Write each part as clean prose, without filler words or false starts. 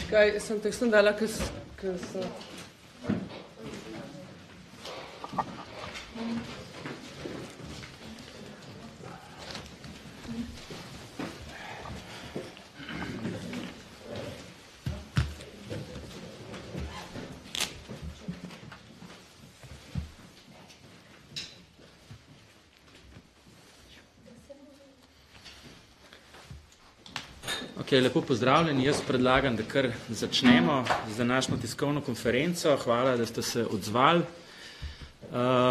Kaj, sem dala, ker sem... Lepo pozdravljeni. Jaz predlagam, da kar začnemo z današnjo tiskovno konferenco. Hvala, da ste se odzvali.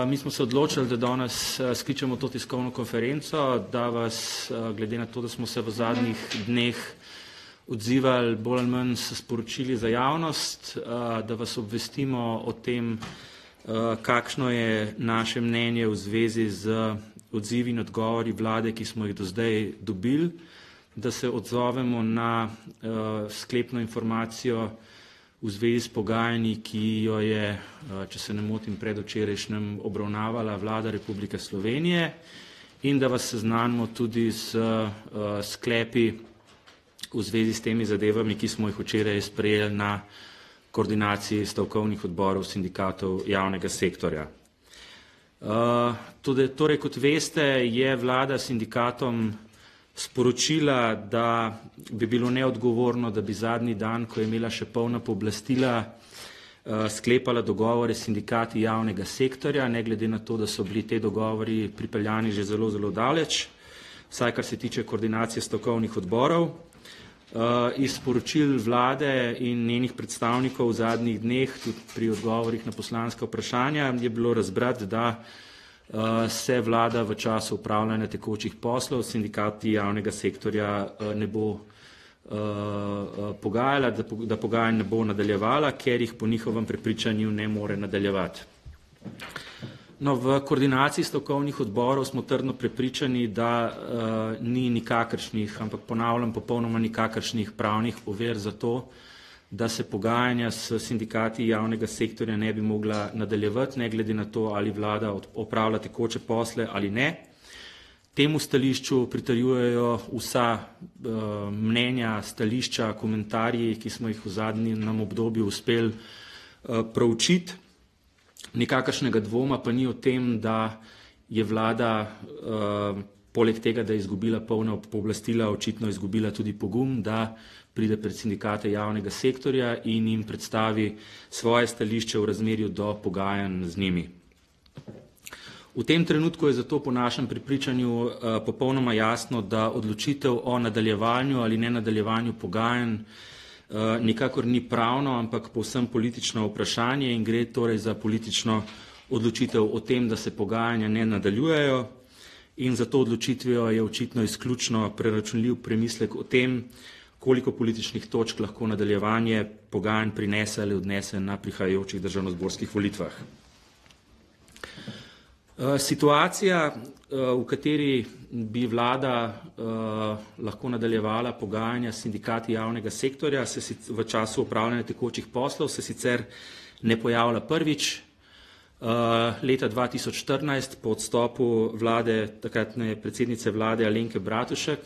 Mi smo se odločili, da danes skličemo to tiskovno konferenco, da vas, glede na to, da smo se v zadnjih dneh odzivali bolj ali manj s sporočili za javnost, da vas obvestimo o tem, kakšno je naše mnenje v zvezi z odzivi in odgovori vlade, ki smo jih do zdaj dobili, da se odzovemo na sklepno informacijo v zvezi s pogajanji, ki jo je, če se ne motim, predvčerajšnjem obravnavala Vlada Republike Slovenije, in da vas seznanimo tudi s sklepi v zvezi s temi zadevami, ki smo jih včeraj sprejeli na koordinaciji stavkovnih odborov sindikatov javnega sektorja. Torej, kot veste, je vlada sindikatom sporočila, da bi bilo neodgovorno, da bi zadnji dan, ko je imela še polna pooblastila, sklepala dogovore s sindikati javnega sektorja, ne glede na to, da so bili te dogovori pripeljani že zelo, zelo daleč, vsaj kar se tiče koordinacije stavkovnih odborov. Iz sporočil vlade in njenih predstavnikov v zadnjih dneh, tudi pri odgovorih na poslanska vprašanja, je bilo razbrati, da se vlada v času upravljanja tekočih poslov s sindikati javnega sektorja ne bo pogajala, da pogajanj ne bo nadaljevala, ker jih po njihovem prepričanju ne more nadaljevati. No, v koordinaciji stavkovnih odborov smo trdno prepričani, da ni nikakršnih, ampak ponavljam, popolnoma nikakršnih pravnih ovir za to, da se pogajanja s sindikati javnega sektorja ne bi mogla nadaljevati, ne glede na to, ali vlada opravlja tekoče posle ali ne. Temu stališču pritrjujejo vsa mnenja, stališča, komentarji, ki smo jih v zadnjem obdobju uspeli proučiti. Nikakršnega dvoma pa ni o tem, da je vlada poleg tega, da je izgubila polna pooblastila, očitno izgubila tudi pogum, da pride pred sindikate javnega sektorja in jim predstavi svoje stališče v razmerju do pogajanj z njimi. V tem trenutku je zato po našem prepričanju popolnoma jasno, da odločitev o nadaljevanju ali ne nadaljevanju pogajanj nikakor ni pravno, ampak povsem politično vprašanje in gre torej za politično odločitev o tem, da se pogajanja ne nadaljujejo, in za to odločitvijo je očitno izključno preračunljiv premislek o tem, koliko političnih točk lahko nadaljevanje pogajanj prinese ali odnese na prihajajočih državnozborskih volitvah. Situacija, v kateri bi vlada lahko nadaljevala pogajanja s sindikati javnega sektorja v času opravljanja tekočih poslov, se sicer ne pojavlja prvič. Leta 2014, po odstopu vlade, takratne predsednice vlade Alenke Bratušek,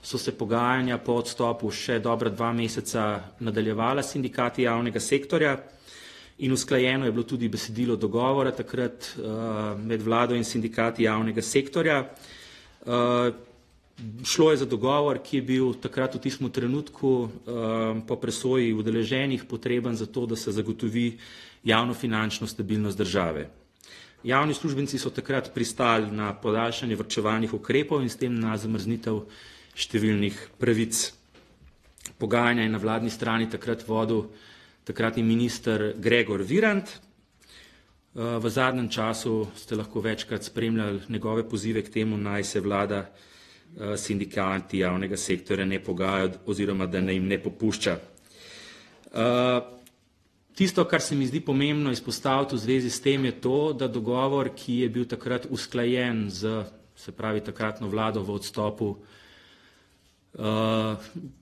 so se pogajanja po odstopu še dobra 2 meseca nadaljevala s sindikati javnega sektorja in usklajeno je bilo tudi besedilo dogovora takrat med vlado in sindikati javnega sektorja. Šlo je za dogovor, ki je bil takrat v tistem trenutku po presoji udeleženih potreben za to, da se zagotovi javnofinančno stabilnost države. Javni uslužbenci so takrat pristali na podaljšanje varčevalnih ukrepov in s tem na zamrznitev številnih pravic. Pogajanja je na vladni strani takrat vodil takratni minister Gregor Virant. V zadnjem času ste lahko večkrat spremljali njegove pozive k temu, naj se vlada sindikati javnega sektorja ne pogajajo oziroma da jim ne popušča. Tisto, kar se mi zdi pomembno izpostaviti v zvezi s tem, je to, da dogovor, ki je bil takrat usklajen z, se pravi, takratno vlado v odstopu,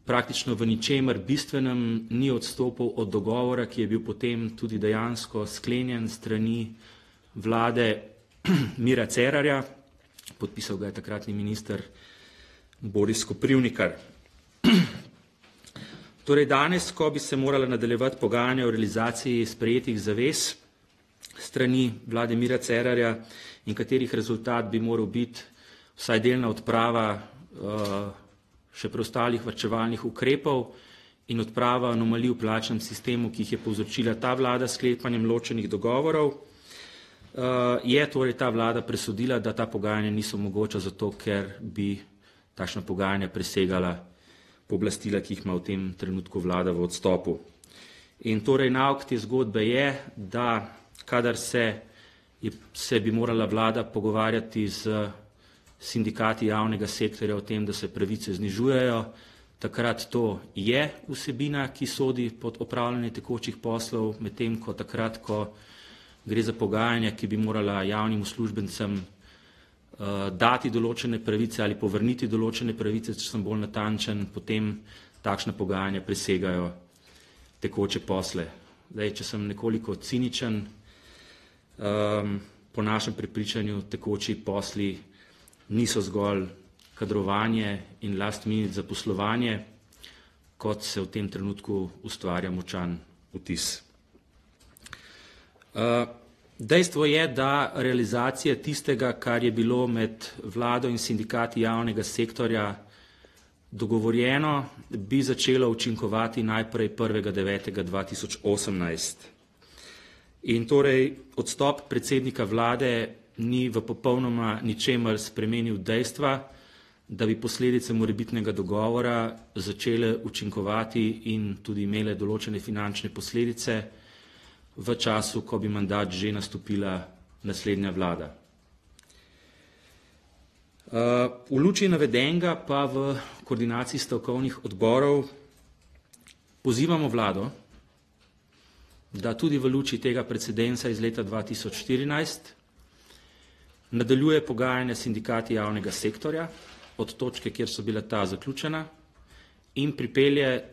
praktično v ničemer bistvenem ni odstopil od dogovora, ki je bil potem tudi dejansko sklenjen strani vlade Mira Cerarja, podpisal ga je takratni minister Boris Koprivnikar. Torej danes, ko bi se morala nadaljevati pogajanja o realizaciji sprejetih zavez strani vlade Mira Cerarja in katerih rezultat bi moral biti vsaj delna odprava še preostalih varčevalnih ukrepov in odprava anomalij v plačnem sistemu, ki jih je povzročila ta vlada s sklepanjem ločenih dogovorov, je torej ta vlada presodila, da ta pogajanja niso mogoča zato, ker bi takšna pogajanja presegala pooblastila, ki jih ima v tem trenutku vlada v odstopu. In torej nauk te zgodbe je, da kadar se bi morala vlada pogovarjati z sindikati javnega sektorja o tem, da se pravice znižujejo, takrat to je vsebina, ki sodi pod opravljanje tekočih poslov, medtem ko takrat, ko gre za pogajanja, ki bi morala javnim uslužbencem dati določene pravice ali povrniti določene pravice, če sem bolj natančen, potem takšna pogajanja presegajo tekoče posle. Zdaj, če sem nekoliko ciničen, po našem prepričanju tekoči posli niso zgolj kadrovanje in last minute zaposlovanje, kot se v tem trenutku ustvarja močan vtis. Dejstvo je, da realizacija tistega, kar je bilo med vlado in sindikati javnega sektorja dogovorjeno, bi začelo učinkovati najprej 1.9.2018. In torej odstop predsednika vlade ni v popolnoma ničemer spremenil dejstva, da bi posledice morebitnega dogovora začele učinkovati in tudi imele določene finančne posledice v času, ko bi mandat že nastopila naslednja vlada. V luči navedenega pa v koordinaciji stavkovnih odborov pozivamo vlado, da tudi v luči tega precedensa iz leta 2014 nadaljuje pogajanja s sindikati javnega sektorja od točke, kjer so bila ta zaključena, in pripelje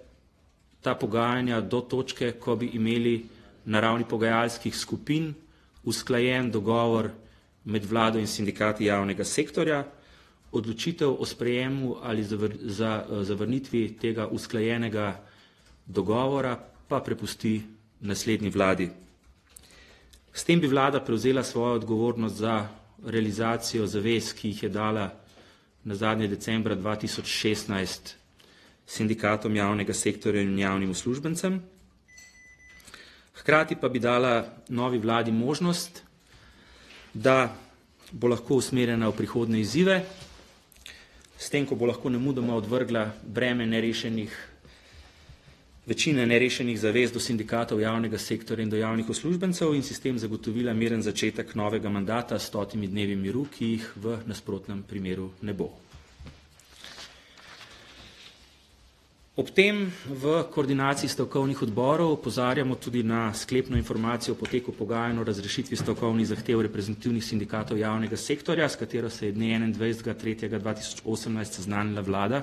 ta pogajanja do točke, ko bi imeli na ravni pogajalskih skupin usklajen dogovor med vlado in sindikati javnega sektorja, odločitev o sprejemu ali zavrnitvi tega usklajenega dogovora pa prepusti naslednji vladi. S tem bi vlada prevzela svojo odgovornost za realizacijo zavez, ki jih je dala na zadnje decembra 2016 sindikatom javnega sektorja in javnim uslužbencem. Hkrati pa bi dala novi vladi možnost, da bo lahko usmerjena v prihodnje izzive, s tem, ko bo lahko nemudoma odvrgla breme večine nerešenih zavez do sindikatov javnega sektorja in do javnih uslužbencev in sistem zagotovila miren začetek novega mandata s 100 dnevi miru, ki jih v nasprotnem primeru ne bo. Ob tem v koordinaciji stavkovnih odborov opozarjamo tudi na sklepno informacijo o poteku pogajanj o razrešitvi stavkovnih zahtev reprezentativnih sindikatov javnega sektorja, s katero se je dne 21.3.2018 seznanila vlada.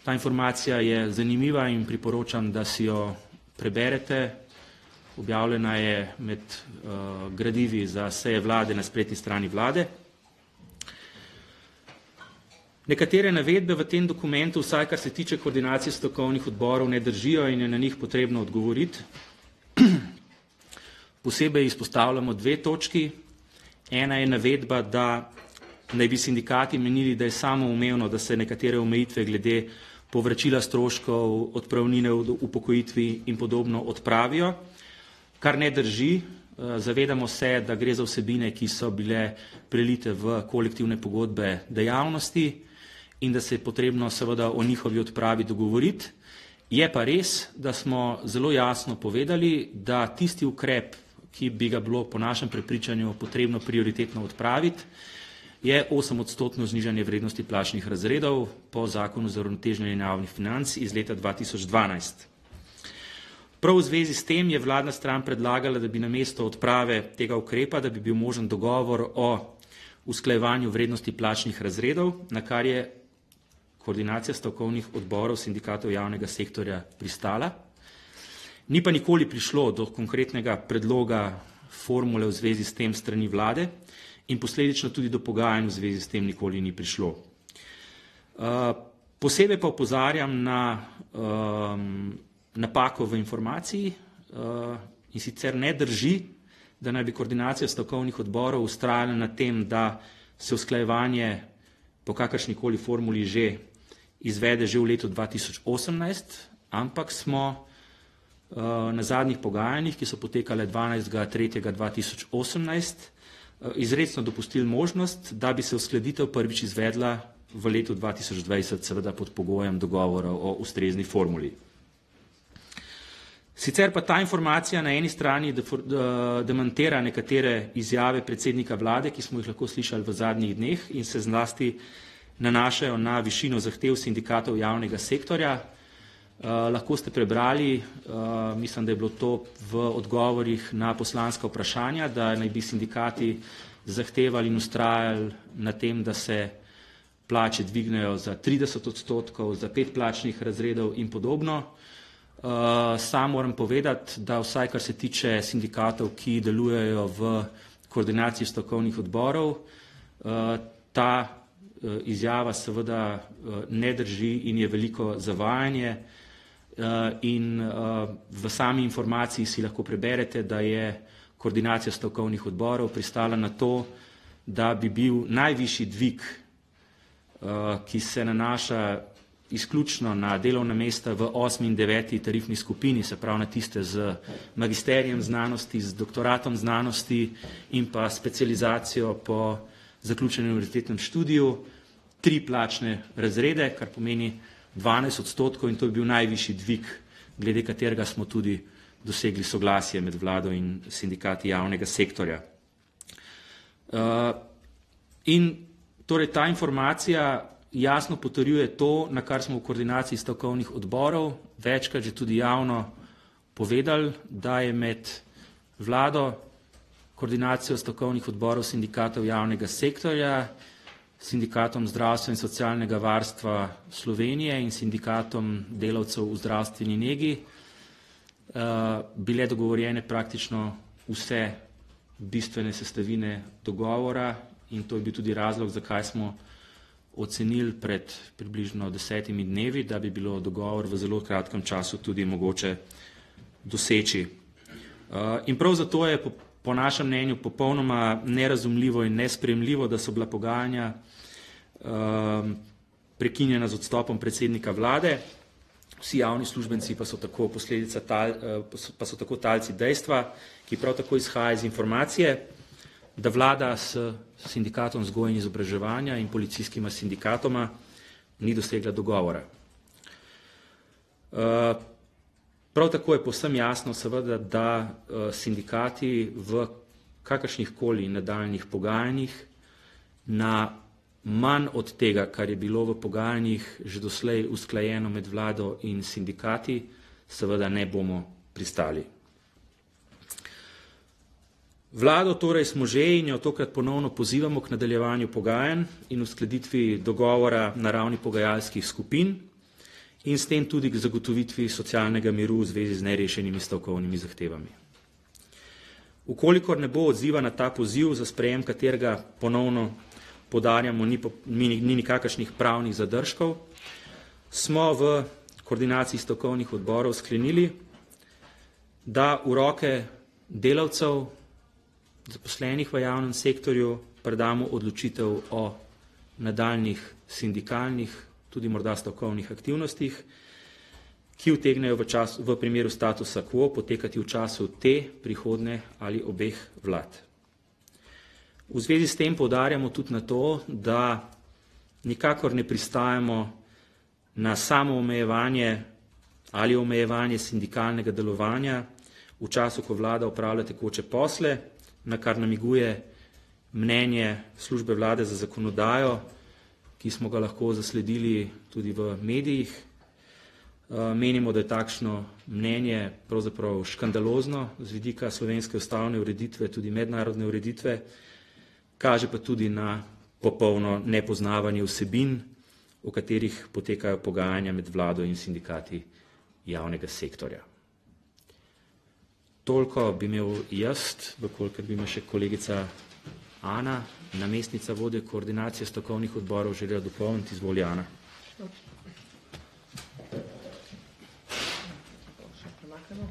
Ta informacija je zanimiva in priporočam, da si jo preberete. Objavljena je med gradivi za seje vlade na spletni strani vlade. Nekatere navedbe v tem dokumentu, vsaj kar se tiče koordinacije stavkovnih odborov, ne držijo in je na njih potrebno odgovoriti. Posebej izpostavljamo dve točki. Ena je navedba, da naj bi sindikati menili, da je samoumevno, da se nekatere omejitve glede povračila stroškov, odpravnine v upokojitvi in podobno odpravijo, kar ne drži. Zavedamo se, da gre za vsebine, ki so bile prelite v kolektivne pogodbe dejavnosti in da se je potrebno seveda o njihovi odpravi dogovoriti. Je pa res, da smo zelo jasno povedali, da tisti ukrep, ki bi ga bilo po našem prepričanju potrebno prioritetno odpraviti, je 8% znižanje vrednosti plačnih razredov po zakonu za uravnoteženje javnih financ iz leta 2012. Prav v zvezi s tem je vladna stran predlagala, da bi namesto odprave tega ukrepa, da bi bil možen dogovor o usklajevanju vrednosti plačnih razredov, na kar je koordinacija stavkovnih odborov sindikatov javnega sektorja pristala. Ni pa nikoli prišlo do konkretnega predloga formule v zvezi s tem strani vlade in posledično tudi do pogajanj v zvezi s tem nikoli ni prišlo. Posebej pa opozarjam na napako v informaciji in sicer ne drži, da naj bi koordinacija stavkovnih odborov vztrajala na tem, da se usklajevanje po kakršnikoli formuli že izvede že v letu 2018, ampak smo na zadnjih pogajanjih, ki so potekale 12.3.2018, izrecno dopustili možnost, da bi se uskladitev prvič izvedla v letu 2020, seveda pod pogojem dogovora o ustrezni formuli. Sicer pa ta informacija na eni strani demantira nekatere izjave predsednika vlade, ki smo jih lahko slišali v zadnjih dneh in se zlasti nanašajo na višino zahtev sindikatov javnega sektorja. Lahko ste prebrali, mislim, da je bilo to v odgovorih na poslanska vprašanja, da naj bi sindikati zahtevali in vztrajali na tem, da se plače dvignejo za 30%, za 5 plačnih razredov in podobno. Sam moram povedati, da vsaj kar se tiče sindikatov, ki delujejo v koordinaciji stavkovnih odborov, ta izjava seveda ne drži in je veliko zavajanje in v sami informaciji si lahko preberete, da je koordinacija stavkovnih odborov pristala na to, da bi bil najvišji dvig, ki se nanaša izključno na delovna mesta v 8. in 9. tarifni skupini, se pravi na tiste z magisterijem znanosti, z doktoratom znanosti in pa specializacijo po zaključenem univerzitetnem študiju, 3 plačne razrede, kar pomeni 12% in to je bil najvišji dvig, glede katerega smo tudi dosegli soglasje med vlado in sindikati javnega sektorja. In torej ta informacija jasno potrjuje to, na kar smo v koordinaciji stavkovnih odborov večkrat že tudi javno povedali, da je med vlado, koordinacijo stavkovnih odborov sindikatov javnega sektorja, sindikatom zdravstva in socialnega varstva Slovenije in sindikatom delavcev v zdravstveni negi bile dogovorjene praktično vse bistvene sestavine dogovora in to je bil tudi razlog, zakaj smo ocenili pred približno 10 dnevi, da bi bilo dogovor v zelo kratkem času tudi mogoče doseči. In prav zato je po našem mnenju popolnoma nerazumljivo in nesprejemljivo, da so bila pogajanja prekinjena z odstopom predsednika vlade. Vsi javni uslužbenci pa so tako talci dejstva, ki prav tako izhaja iz informacije, da vlada s sindikatom vzgoje in izobraževanja in policijskima sindikatoma ni dosegla dogovora. Prav tako je povsem jasno seveda, da sindikati v kakršnihkoli nadaljnjih pogajanjih na manj od tega, kar je bilo v pogajanjih že doslej usklajeno med vlado in sindikati, seveda ne bomo pristali. Vlado torej smo že in jo tokrat ponovno pozivamo k nadaljevanju pogajanj in uskladitvi dogovora na ravni pogajalskih skupin in s tem tudi k zagotovitvi socialnega miru v zvezi z nerešenimi stavkovnimi zahtevami. Ukolikor ne bo odziva na ta poziv, za sprejem katerega ponovno podarjamo, ni nikakršnih pravnih zadržkov, smo v koordinaciji stavkovnih odborov sklenili, da v roke delavcev, zaposlenih v javnem sektorju, predamo odločitev o nadaljnjih sindikalnih, tudi morda stavkovnih aktivnostih, ki utegnejo v primeru statusa quo potekati v času te, prihodnje ali obeh vlad. V zvezi s tem poudarjamo tudi na to, da nikakor ne pristajamo na samo omejevanje ali omejevanje sindikalnega delovanja v času, ko vlada opravlja tekoče posle, na kar namiguje mnenje službe vlade za zakonodajo, ki smo ga lahko zasledili tudi v medijih. Menimo, da je takšno mnenje pravzaprav škandalozno z vidika slovenske ustavne ureditve, tudi mednarodne ureditve, kaže pa tudi na popolno nepoznavanje vsebin, o katerih potekajo pogajanja med vlado in sindikati javnega sektorja. Toliko bi imel jaz, kolikor bi me še kolegica Ana, namestnica vodje koordinacije stavkovnih odborov, želela dopolniti. Izvoli, Ana. Čakajmo.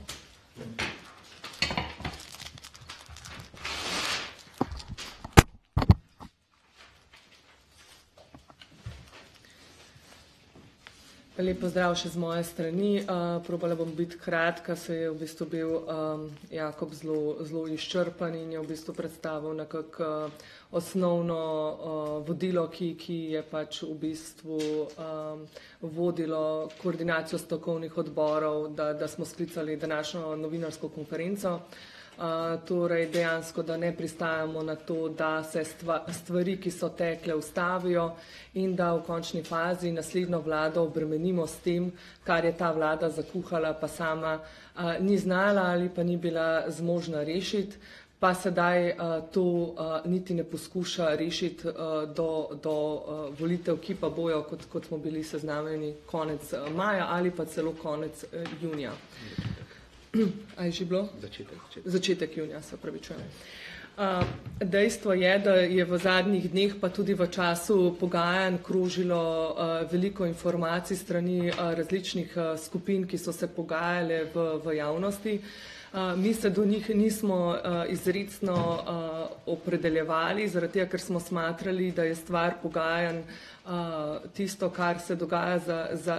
Lep pozdrav še z moje strani. Probala bom biti kratka, se je v bistvu bil Jakob zelo izčrpan in je v bistvu predstavil nekako osnovno vodilo, ki je pač v bistvu vodilo koordinacijo strokovnih odborov, da smo sklicali današnjo novinarsko konferenco. Torej dejansko, da ne pristajamo na to, da se stvari, ki so tekle, ustavijo in da v končni fazi naslednjo vlado obremenimo s tem, kar je ta vlada zakuhala, pa sama ni znala ali pa ni bila zmožna rešiti, pa sedaj to niti ne poskuša rešiti do volitev, ki pa bojo, kot smo bili seznanjeni, konec maja ali pa celo konec junija. A je že bilo? Začetek junija, se opravičujem. Dejstvo je, da je v zadnjih dneh pa tudi v času pogajanj krožilo veliko informacij strani različnih skupin, ki so se pogajale v javnosti. Mi se do njih nismo izrecno opredeljevali, zaradi tega, ker smo smatrali, da je stvar pogajanj tisto, kar se dogaja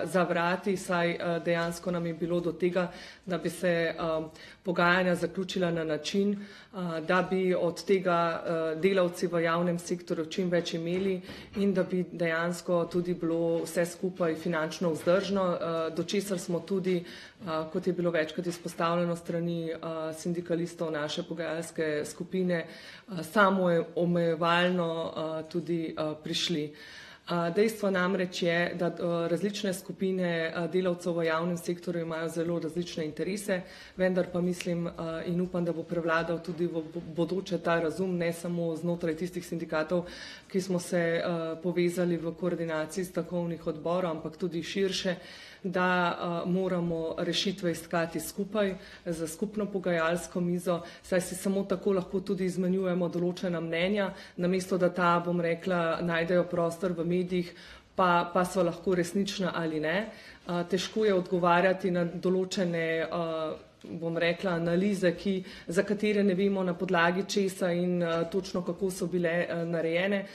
za vrati, saj dejansko nam je bilo do tega, da bi se pogajanja zaključila na način, da bi od tega delavci v javnem sektorju čim več imeli in da bi dejansko tudi bilo vse skupaj finančno vzdržno, do česar smo tudi, kot je bilo večkrat izpostavljeno strani sindikalistov naše pogajalske skupine, samoomejevalno tudi prišli. Dejstvo namreč je, da različne skupine delavcev v javnem sektorju imajo zelo različne interese, vendar pa mislim in upam, da bo prevladal tudi v bodoče ta razum, ne samo znotraj tistih sindikatov, ki smo se povezali v koordinaciji stavkovnih odborov, ampak tudi širše, da moramo rešitve iskati skupaj za skupno pogajalsko mizo, saj si samo tako lahko tudi izmenjujemo določena mnenja, namesto da ta, bom rekla, najdejo prostor v medijih, pa so lahko resnična ali ne. Težko je odgovarjati na določene, bom rekla, analize, za katere ne vemo na podlagi česa in točno kako so bile narejene.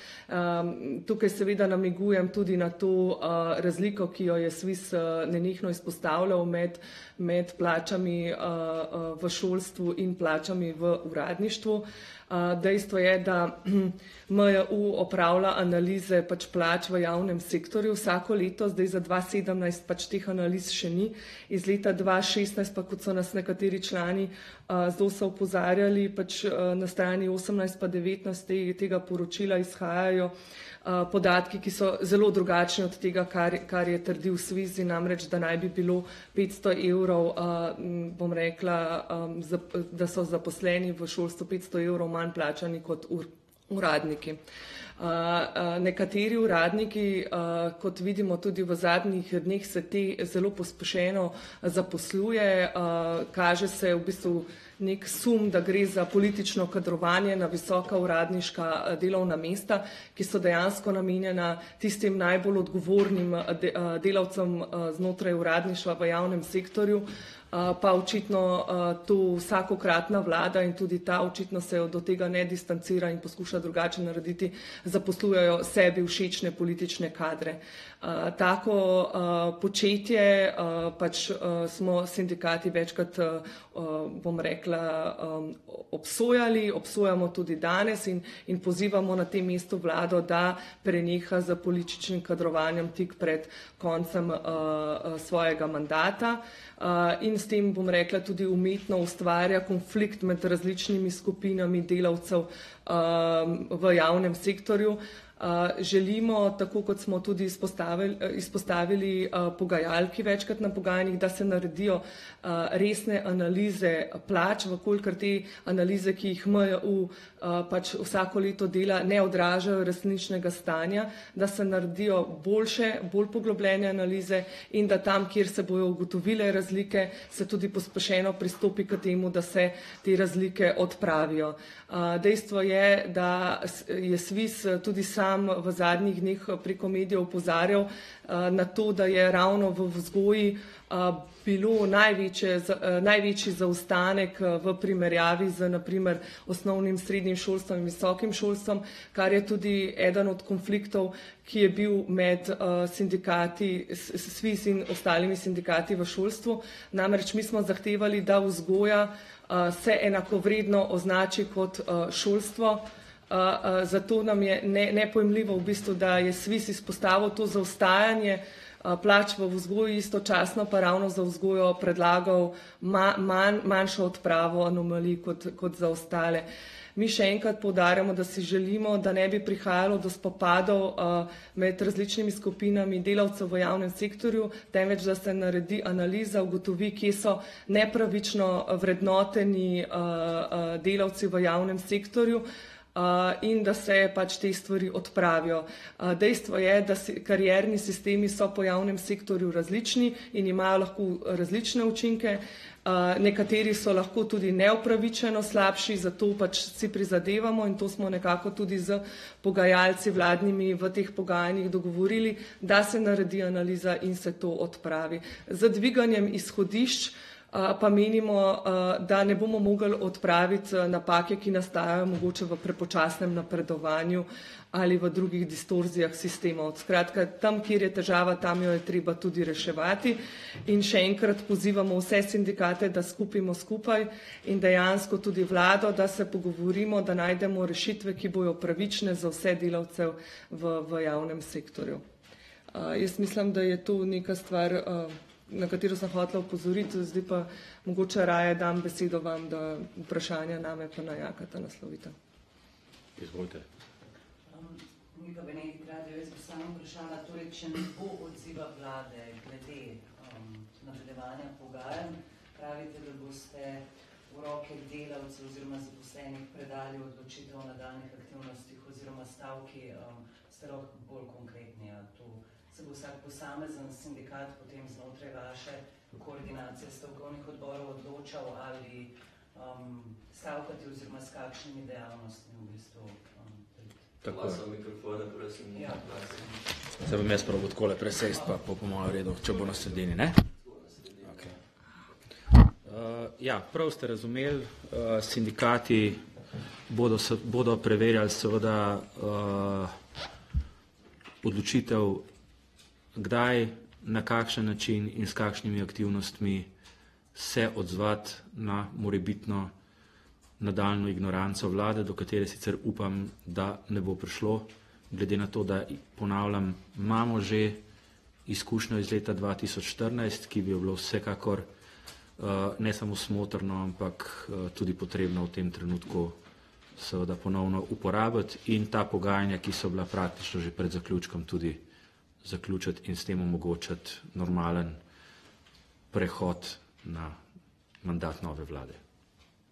Tukaj seveda namigujem tudi na to razliko, ki jo je SVIZ nenehno izpostavljal med plačami v šolstvu in plačami v uradništvu. Dejstvo je, da MJU opravlja analize pač plač v javnem sektorju vsako leto, zdaj za 2017 pač teh analiz še ni. Iz leta 2016 pa, kot so nas nekateri člani ZOS-a opozarjali, pač na strani 18 pa 19 tega poročila izhajajo podatki, ki so zelo drugačni od tega, kar je trdil SVIZ, namreč, da naj bi bilo 500 evrov, bom rekla, da so zaposleni v šolstvu 500 evrov manj plačani kot uradniki. Nekateri uradniki, kot vidimo tudi v zadnjih dneh, se te zelo pospešeno zaposluje, kaže se v bistvu nek sum, da gre za politično kadrovanje na visoka uradniška delovna mesta, ki so dejansko namenjena tistim najbolj odgovornim delavcem znotraj uradništva v javnem sektorju, pa očitno to vsakokratna vlada in tudi ta očitno se do tega ne distancira in poskuša drugače narediti, zaposlujejo sebi všečne politične kadre. Tako početje pač smo sindikati večkrat, bom rekla, obsojamo tudi danes in pozivamo na tem mestu vlado, da preneha z političnim kadrovanjem tik pred koncem svojega mandata in s tem, bom rekla, tudi umetno ustvarja konflikt med različnimi skupinami delavcev v javnem sektorju. Želimo, tako kot smo tudi izpostavili pogajalki večkrat na pogajanjih, da se naredijo resne analize plač, vkolikor te analize, ki jih MJU pač vsako leto dela, ne odražajo resničnega stanja, da se naredijo boljše, bolj poglobljene analize in da tam, kjer se bojo ugotovile razlike, se tudi pospešeno pristopi k temu, da se te razlike odpravijo. Dejstvo je, da je SVIZ tudi sam sam v zadnjih dneh preko medijev opozarjal na to, da je ravno v vzgoji bilo največji zaostanek v primerjavi z naprimer osnovnim, srednjim šolstvom in visokim šolstvom, kar je tudi eden od konfliktov, ki je bil med sindikati, SVIZ in ostalimi sindikati v šolstvu. Namreč mi smo zahtevali, da vzgoja se enakovredno označi kot šolstvo. Zato nam je nepojmljivo v bistvu, da je SVIZ izpostavil to zaostajanje plač v vzgoji, istočasno pa ravno za vzgojo predlagal manjšo odpravo anomalij kot za ostale. Mi še enkrat poudarjamo, da si želimo, da ne bi prihajalo do spopadov med različnimi skupinami delavcev v javnem sektorju, temveč da se naredi analiza, ugotovi, kje so nepravično vrednoteni delavci v javnem sektorju, in da se pač te stvari odpravijo. Dejstvo je, da karierni sistemi so po javnem sektorju različni in imajo lahko različne učinke. Nekateri so lahko tudi neupravičeno slabši, zato pač si prizadevamo in to smo nekako tudi z pogajalci vladnimi v teh pogajanjih dogovorili, da se naredi analiza in se to odpravi. Z dviganjem izhodišč pa menimo, da ne bomo mogli odpraviti napake, ki nastajajo mogoče v prepočasnem napredovanju ali v drugih distorzijah sistemov. Skratka, tam, kjer je težava, tam jo je treba tudi reševati. In še enkrat pozivamo vse sindikate, da skupimo skupaj in dejansko tudi vlado, da se pogovorimo, da najdemo rešitve, ki bojo pravične za vse delavcev v javnem sektorju. Jaz mislim, da je to neka stvar, na katero sem hotela opozoriti, zdaj pa mogoče raje dam besedo vam, da vprašanja name pa na Jakata naslovite. Izvolite. Mi pa Benedikt Radio, jaz bi samo vprašala, torej, če ne bo odziva vlade glede nadaljevanja pogajanj, pravite, da boste v roke delavcev oziroma zaposlenih predali odločitev o nadaljnih aktivnostih oziroma stavki, ste lahko bolj konkretni, se bo vsak posamezen sindikat potem znotraj vaše koordinacije stavkovnih odborov odločal ali stavkati oziroma s kakšnimi dejavnostmi v bistvu. Tako. Mikrofone, prosim. Ja. Se bom jaz prav odkole presest, pa po mojem redu, če bo na sredini, ne? Okay. Ja, prav ste razumeli, sindikati bodo preverjali seveda odločitev, kdaj, na kakšen način in s kakšnimi aktivnostmi se odzvati na morebitno nadaljnjo ignoranco vlade, do katere sicer upam, da ne bo prišlo, glede na to, da ponavljam, imamo že izkušnjo iz leta 2014, ki bi bilo vsekakor ne samo smotrno, ampak tudi potrebno v tem trenutku seveda ponovno uporabiti in ta pogajanja, ki so bila praktično že pred zaključkom, tudi zaključiti in s tem omogočiti normalen prehod na mandat nove vlade.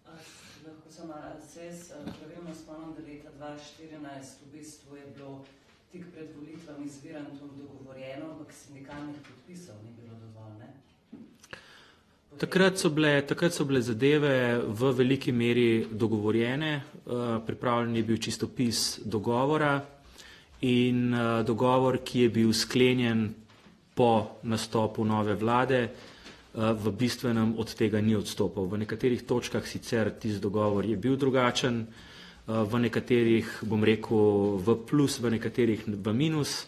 Lahko samo se jaz pravilno spomnim, da leta 2014 v bistvu je bilo tik pred volitvami z Virantom dogovorjeno, ampak sindikalnih podpisov ni bilo dovolj, ne? Takrat so bile zadeve v veliki meri dogovorjene, pripravljen je bil čistopis dogovora in dogovor, ki je bil sklenjen po nastopu nove vlade, v bistvenem od tega ni odstopal. V nekaterih točkah sicer tisti dogovor je bil drugačen, v nekaterih, bom rekel, v plus, v nekaterih v minus,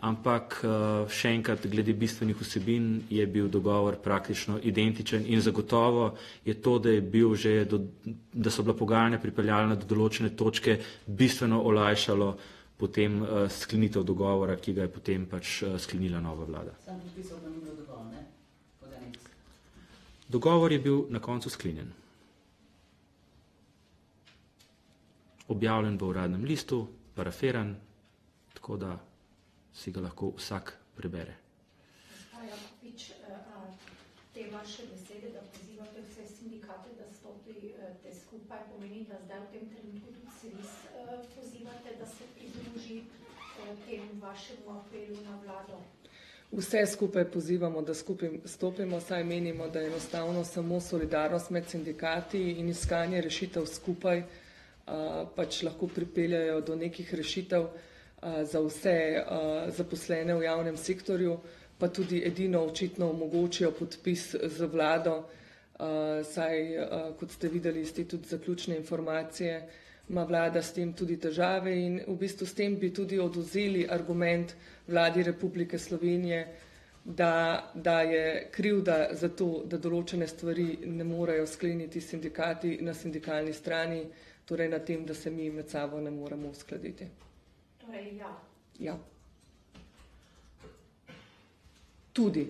ampak še enkrat, glede bistvenih vsebin je bil dogovor praktično identičen in zagotovo je to, da so bila pogajanja pripeljana do določene točke, bistveno olajšalo potem sklenitev dogovora, ki ga je potem pač sklenila nova vlada. Sam podpisal pa ni bilo dovolj, ne? Dogovor je bil na koncu sklenjen. Objavljen v uradnem listu, parafiran, tako da si ga lahko vsak prebere. Jakopič, te vaše besede, da pozivate vse sindikate, da stopite skupaj, pomeni, da zdaj v tem trenutku tudi SVIZ pozivate, da se pridruži temu vašemu apelu na vlado. Vse skupaj pozivamo, da skupaj stopimo, saj menimo, da je enostavno samo solidarnost med sindikati in iskanje rešitev skupaj pač lahko pripeljajo do nekih rešitev. za vse zaposlene v javnem sektorju, pa tudi edino očitno omogočijo podpis z vlado, saj, kot ste videli iz te tudi zaključne informacije, ima vlada s tem tudi težave in v bistvu s tem bi tudi odvzeli argument vladi Republike Slovenije, da je krivda za to, da določene stvari ne morejo skleniti sindikati na sindikalni strani, torej na tem, da se mi med sabo ne moremo uskladiti. Torej, ja. Ja. Tudi.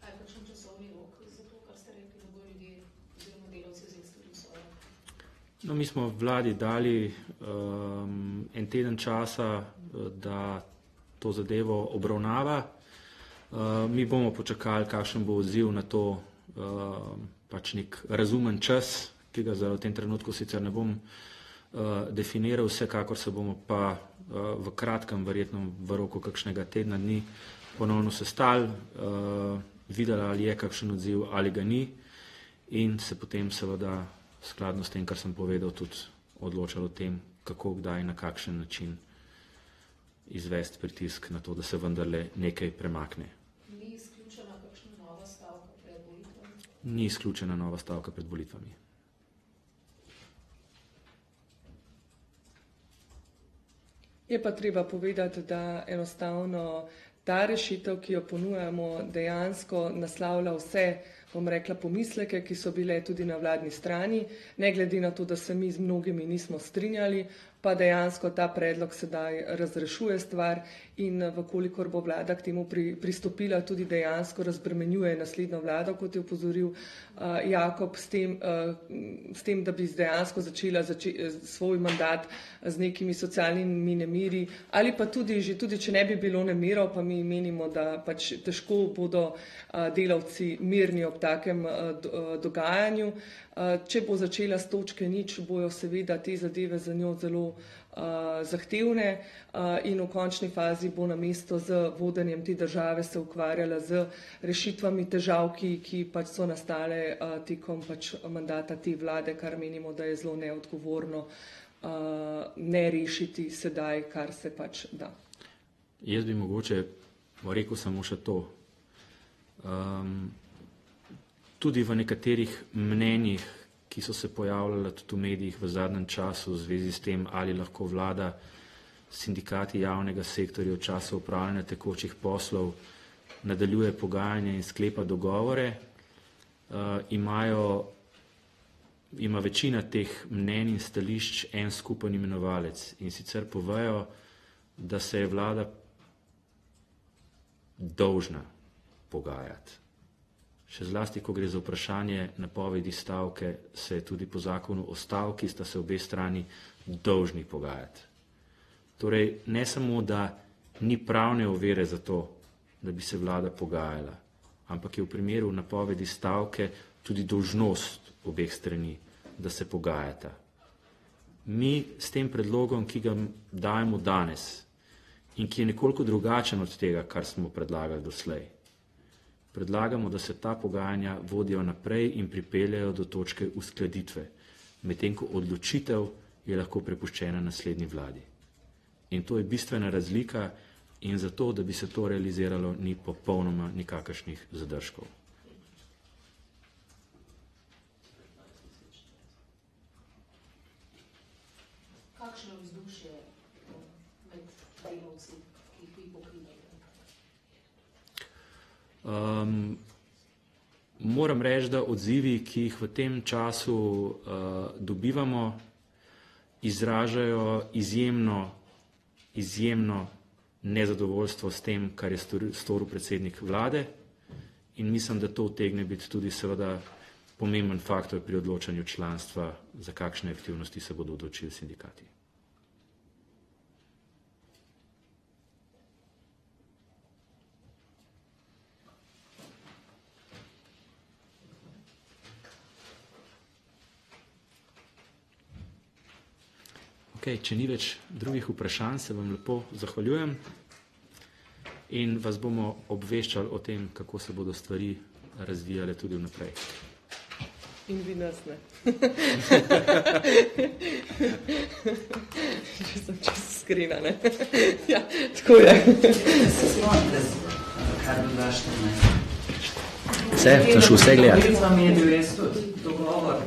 Kaj kakšen časovni rok za to, kar ste rekli, da bo ljudje oziroma delavci vzeli svoje? No, mi smo vladi dali en teden časa, da to zadevo obravnava. Mi bomo počakali, kakšen bo odziv na to, pač nek razumen čas, ki ga v tem trenutku sicer ne bom definiral, vsekakor se bomo pa v kratkem, verjetno v roku kakšnega tedna dni ponovno sestali, videli, ali je kakšen odziv ali ga ni in se potem seveda skladno s tem, kar sem povedal, tudi odločali o tem, kako, kdaj, na kakšen način izvesti pritisk na to, da se vendarle nekaj premakne. Ni izključena kakšna nova stavka pred volitvami? Ni izključena nova stavka pred volitvami. Je pa treba povedati, da enostavno ta rešitev, ki jo ponujamo, dejansko naslavlja vse, bom rekla, pomisleke, ki so bile tudi na vladni strani, ne glede na to, da se mi z mnogimi nismo strinjali, pa dejansko ta predlog sedaj razrešuje stvar in vkolikor bo vlada k temu pristopila, tudi dejansko razbremenjuje naslednjo vlado, kot je opozoril Jakob, s tem, da bi dejansko začela svoj mandat z nekimi socialnimi nemiri, ali pa tudi če ne bi bilo nemirov, pa mi menimo, da pač težko bodo delavci mirni ob takem dogajanju. Če bo začela s točke nič, bojo seveda te zadeve za njo zelo zahtevne in v končni fazi bo namesto z vodenjem te države se ukvarjala z rešitvami težav, ki pač so nastale tekom pač mandata te vlade, kar menimo, da je zelo neodgovorno ne rešiti sedaj, kar se pač da. Jaz bi mogoče rekel samo še to. Tudi v nekaterih mnenjih, ki so se pojavljala tudi v medijih v zadnjem času v zvezi s tem, ali lahko vlada sindikati javnega sektorja v času upravljanja tekočih poslov nadaljuje pogajanje in sklepa dogovore, ima večina teh mnenj in stališč en skupen imenovalec in sicer povejo, da se je vlada dolžna pogajati. Še zlasti, ko gre za vprašanje napovedi stavke, se je tudi po zakonu o stavki, sta se obe strani dolžni pogajati. Torej, ne samo, da ni pravne ovire za to, da bi se vlada pogajala, ampak je v primeru napovedi stavke tudi dolžnost obeh strani, da se pogajata. Mi s tem predlogom, ki ga dajemo danes in ki je nekoliko drugačen od tega, kar smo predlagali doslej, predlagamo, da se ta pogajanja vodijo naprej in pripeljajo do točke uskladitve, medtem ko odločitev je lahko prepuščena naslednji vladi. In to je bistvena razlika in zato, da bi se to realiziralo, ni popolnoma nikakršnih zadržkov. Kakšno vzdušje med delavci, ki jih vi pokrivate? Moram reči, da odzivi, ki jih v tem času dobivamo, izražajo izjemno nezadovoljstvo s tem, kar je storil predsednik vlade in mislim, da to utegne biti tudi seveda pomemben faktor pri odločanju članstva, za kakšne aktivnosti se bodo odločili sindikati. Okay, če ni več drugih vprašanj, se vam lepo zahvaljujem in vas bomo obveščali o tem, kako se bodo stvari razvijale tudi vnaprej. In vi nas ne. Če sem čisto skriva, ne. Ja, tako je. Se spomnite, kar bi vaš Vse, sem šel vse gledati. Med vami je bil res tudi dogovor